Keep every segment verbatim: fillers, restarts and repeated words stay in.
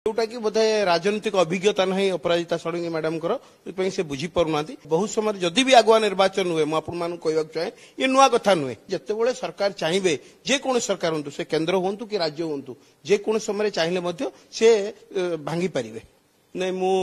ଯୋଉଟା କି ବୋଧେ ରାଜନୈତିକ ଅଭିଜ୍ଞତା ନାହିଁ ଅପରାଜିତା ଷଡ଼ଙ୍ଗୀ ମ୍ୟାଡାମଙ୍କର, ସେଥିପାଇଁ ସେ ବୁଝିପାରୁନାହାନ୍ତି। ବହୁତ ସମୟରେ ଯଦି ବି ଆଗୁଆ ନିର୍ବାଚନ ହୁଏ, ମୁଁ ଆପଣମାନଙ୍କୁ କହିବାକୁ ଚାହେଁ, ଇଏ ନୂଆ କଥା ନୁହେଁ। ଯେତେବେଳେ ସରକାର ଚାହିଁବେ, ଯେକୌଣସି ସରକାର ହୁଅନ୍ତୁ, ସେ କେନ୍ଦ୍ର ହୁଅନ୍ତୁ କି ରାଜ୍ୟ ହୁଅନ୍ତୁ, ଯେକୌଣସି ସମୟରେ ଚାହିଁଲେ ମଧ୍ୟ ସେ ଭାଙ୍ଗି ପାରିବେ। ନାଇଁ, ମୁଁ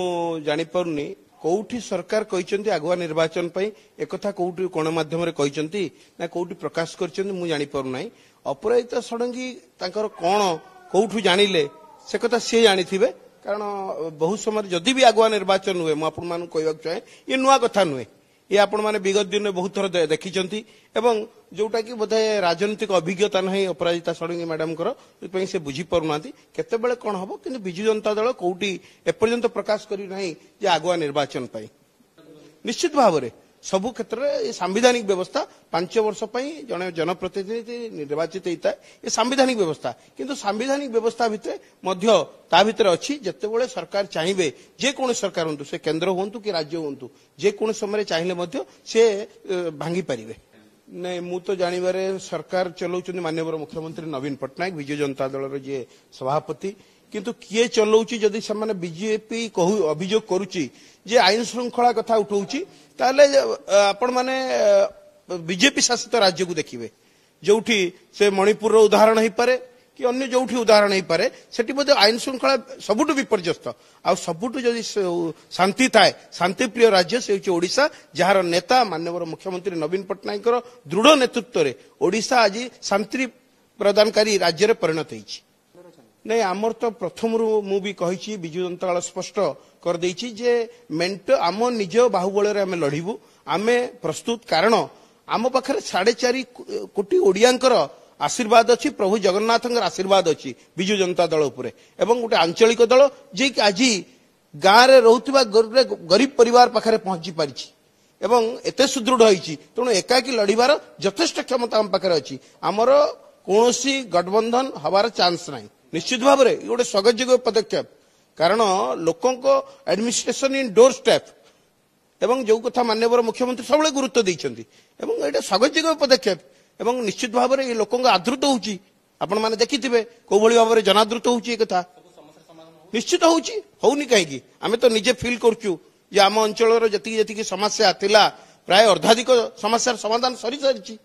ଜାଣିପାରୁନି କୋଉଠି ସରକାର କହିଛନ୍ତି ଆଗୁଆ ନିର୍ବାଚନ ପାଇଁ। ଏକଥା କୋଉଠି ଗଣମାଧ୍ୟମରେ କହିଛନ୍ତି ନା କୋଉଠି ପ୍ରକାଶ କରିଛନ୍ତି, ମୁଁ ଜାଣିପାରୁନାହିଁ। ଅପରାଜିତା ଷଡ଼ଙ୍ଗୀ ତାଙ୍କର କଣ କୋଉଠୁ ଜାଣିଲେ, ସେ କଥା ସିଏ ଜାଣିଥିବେ। କାରଣ ବହୁତ ସମୟରେ ଯଦି ବି ଆଗୁଆ ନିର୍ବାଚନ ହୁଏ, ମୁଁ ଆପଣମାନଙ୍କୁ କହିବାକୁ ଚାହେଁ, ଇଏ ନୂଆ କଥା ନୁହେଁ। ଇଏ ଆପଣମାନେ ବିଗତ ଦିନରେ ବହୁତ ଥର ଦେଖିଛନ୍ତି। ଏବଂ ଯୋଉଟା କି ବୋଧେ ରାଜନୈତିକ ଅଭିଜ୍ଞତା ନାହିଁ ଅପରାଜିତା ଷଡ଼ଙ୍ଗୀ ମ୍ୟାଡାମଙ୍କର, ସେଥିପାଇଁ ସେ ବୁଝିପାରୁନାହାନ୍ତି କେତେବେଳେ କଣ ହବ। କିନ୍ତୁ ବିଜୁ ଜନତା ଦଳ କୋଉଠି ଏପର୍ଯ୍ୟନ୍ତ ପ୍ରକାଶ କରିନାହିଁ ଯେ ଆଗୁଆ ନିର୍ବାଚନ ପାଇଁ। ନିଶ୍ଚିତ ଭାବରେ ସବୁ କ୍ଷେତ୍ରରେ ଏ ସାମ୍ବିଧାନିକ ବ୍ୟବସ୍ଥା, ପାଞ୍ଚ ବର୍ଷ ପାଇଁ ଜଣେ ଜନପ୍ରତିନିଧି ନିର୍ବାଚିତ ହେଇଥାଏ, ଏ ସାମ୍ବିଧାନିକ ବ୍ୟବସ୍ଥା। କିନ୍ତୁ ସାମ୍ବିଧାନିକ ବ୍ୟବସ୍ଥା ଭିତରେ ମଧ୍ୟ ତା ଭିତରେ ଅଛି, ଯେତେବେଳେ ସରକାର ଚାହିଁବେ, ଯେକୌଣସି ସରକାର ହୁଅନ୍ତୁ, ସେ କେନ୍ଦ୍ର ହୁଅନ୍ତୁ କି ରାଜ୍ୟ ହୁଅନ୍ତୁ, ଯେକୌଣସି ସମୟରେ ଚାହିଁଲେ ମଧ୍ୟ ସେ ଭାଙ୍ଗି ପାରିବେ। ନାଇଁ, ମୁଁ ତ ଜାଣିବାରେ ସରକାର ଚଲାଉଛନ୍ତି ମାନ୍ୟବର ମୁଖ୍ୟମନ୍ତ୍ରୀ ନବୀନ ପଟ୍ଟନାୟକ, ବିଜୁ ଜନତା ଦଳର ଯିଏ ସଭାପତି। କିନ୍ତୁ କିଏ ଚଲାଉଛି, ଯଦି ସେମାନେ ବିଜେପି କହୁ ଅଭିଯୋଗ କରୁଛି ଯେ ଆଇନ ଶୃଙ୍ଖଳା କଥା ଉଠଉଛି, ତାହେଲେ ଆପଣମାନେ ବିଜେପି ଶାସିତ ରାଜ୍ୟକୁ ଦେଖିବେ, ଯୋଉଠି ସେ ମଣିପୁରର ଉଦାହରଣ ହେଇପାରେ କି ଅନ୍ୟ ଯୋଉଠି ଉଦାହରଣ ହେଇପାରେ, ସେଠି ବୋଧେ ଆଇନ ଶୃଙ୍ଖଳା ସବୁଠୁ ବିପର୍ଯ୍ୟସ୍ତ। ଆଉ ସବୁଠୁ ଯଦି ଶାନ୍ତି ଥାଏ, ଶାନ୍ତିପ୍ରିୟ ରାଜ୍ୟ, ସେ ହେଉଛି ଓଡ଼ିଶା, ଯାହାର ନେତା ମାନ୍ୟବର ମୁଖ୍ୟମନ୍ତ୍ରୀ ନବୀନ ପଟ୍ଟନାୟକଙ୍କର ଦୃଢ଼ ନେତୃତ୍ୱରେ ଓଡ଼ିଶା ଆଜି ଶାନ୍ତି ପ୍ରଦାନକାରୀ ରାଜ୍ୟରେ ପରିଣତ ହେଇଛି। ନାଇଁ, ଆମର ତ ପ୍ରଥମରୁ ମୁଁ ବି କହିଛି, ବିଜୁ ଜନତା ଦଳ ସ୍ପଷ୍ଟ କରିଦେଇଛି ଯେ ମେଣ୍ଟ ଆମ ନିଜ ବାହୁବଳରେ ଆମେ ଲଢ଼ିବୁ। ଆମେ ପ୍ରସ୍ତୁତ, କାରଣ ଆମ ପାଖରେ ସାଢେ ଚାରି କୋଟି ଓଡ଼ିଆଙ୍କର ଆଶୀର୍ବାଦ ଅଛି, ପ୍ରଭୁ ଜଗନ୍ନାଥଙ୍କର ଆଶୀର୍ବାଦ ଅଛି ବିଜୁ ଜନତା ଦଳ ଉପରେ। ଏବଂ ଗୋଟେ ଆଞ୍ଚଳିକ ଦଳ ଯିଏକି ଆଜି ଗାଁରେ ରହୁଥିବା ଗରିବ ପରିବାର ପାଖରେ ପହଞ୍ଚି ପାରିଛି ଏବଂ ଏତେ ସୁଦୃଢ଼ ହେଇଛି, ତେଣୁ ଏକାକୀ ଲଢ଼ିବାର ଯଥେଷ୍ଟ କ୍ଷମତା ଆମ ପାଖରେ ଅଛି। ଆମର କୌଣସି ଗଠବନ୍ଧନ ହବାର ଚାନ୍ସ ନାହିଁ। ନିଶ୍ଚିତ ଭାବରେ ଗୋଟେ ସ୍ୱାଗତଯୋଗ୍ୟ ପଦକ୍ଷେପ, କାରଣ ଲୋକଙ୍କ ଆଡମିନିଷ୍ଟ୍ରେସନ ଇନ୍ ଡୋର ଷ୍ଟେପ୍, ଏବଂ ଯୋଉ କଥା ମାନ୍ୟବର ମୁଖ୍ୟମନ୍ତ୍ରୀ ସବୁବେଳେ ଗୁରୁତ୍ୱ ଦେଇଛନ୍ତି, ଏବଂ ଏଇଟା ସ୍ୱାଗତଯୋଗ୍ୟ ପଦକ୍ଷେପ। ଏବଂ ନିଶ୍ଚିତ ଭାବରେ ଏ ଲୋକଙ୍କ ଆଦୃତ ହଉଛି, ଆପଣମାନେ ଦେଖିଥିବେ କୋଉଭଳି ଭାବରେ ଜନାଦୃତ ହଉଛି। ଏ କଥା ନିଶ୍ଚିତ ହଉଛି, ହଉନି କାହିଁକି? ଆମେ ତ ନିଜେ ଫିଲ୍ କରୁଛୁ ଯେ ଆମ ଅଞ୍ଚଳର ଯେତିକି ଯେତିକି ସମସ୍ୟା ଥିଲା, ପ୍ରାୟ ଅର୍ଦ୍ଧାଧିକ ସମସ୍ୟାର ସମାଧାନ ସରିସାରିଛି।